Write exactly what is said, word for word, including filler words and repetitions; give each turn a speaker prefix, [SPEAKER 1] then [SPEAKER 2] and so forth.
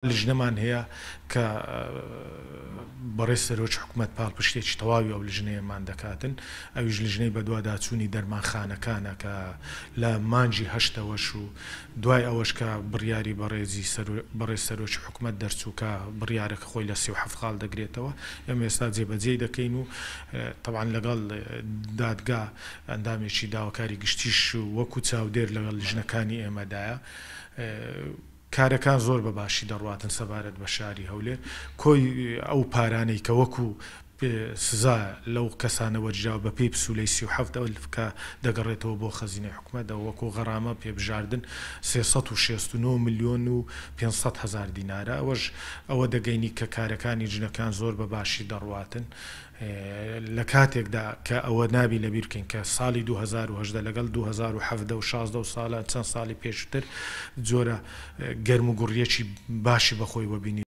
[SPEAKER 1] لیژنەمان هەیە کە بەڕێز سەرۆکی حکومەت پاڵپشتێکی تەواوی ئەو لیژنەیەمان دەکاتن، ئەویش لیژنەی بەدواداچوونی دەرمانخانەکانە کە لە مانگی هەشتەوەش و دوای ئەوەش کە بڕیاری بەڕێزی بەڕێز سەرۆکی حکومەت دەرچوو کە بڕیارەکە خۆی لە سی و حەفت خاڵ دەگرێتەوە، ئێمە ئێستا جێبەجێی دەکەین و تەبعەن لەگەڵ دادگا ئەندامێکی داواکاری گشتیش وەکو چاودێر لەگەڵ لیژنەکانی ئێمەدایە. کارەکان زۆر بە باشی دەڕواتن سەبارەت بە شاری هەولێر. کۆی ئەو پارانەی کە وەکو سزا لەو کەسانە وەرگیراوە بە پێی پسوولەی سی و حەفت ئەلف کە دەگەڕێتەوە بۆ خەزینەی حکومەت، ئەوە وەکو غەرامە پێبژاردن سێ سەد و شەست و نۆ ملیۆن و پێنج سەد هەزار دینارە. ئەوەش ئەوە دەگەینی کە کارەکانی ژنەکان زۆر بە باشی دەڕواتن. لە کاتێکدا کە ئەوە نابی لەبیر بکەین کە ساڵی دوو هەزار و هەژدە لەگەڵ دوو هەزار و حەڤدە و شازدە و ساڵە چەند ساڵی پێشتر جۆرە گەرم و گوڕیەکی باشی بەخۆی وەبینی.